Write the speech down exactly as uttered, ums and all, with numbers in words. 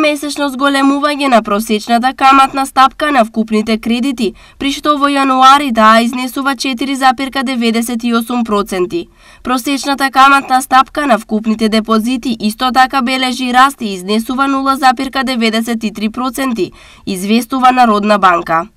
месечно зголемување на просечната каматна стапка на вкупните кредити, при што во јануари таа изнесува четири запирка деветдесет и осум проценти. Просечната каматна стапка на вкупните депозити исто така бележи раст и изнесува нула запирка деветдесет и три проценти, известува Народна банка.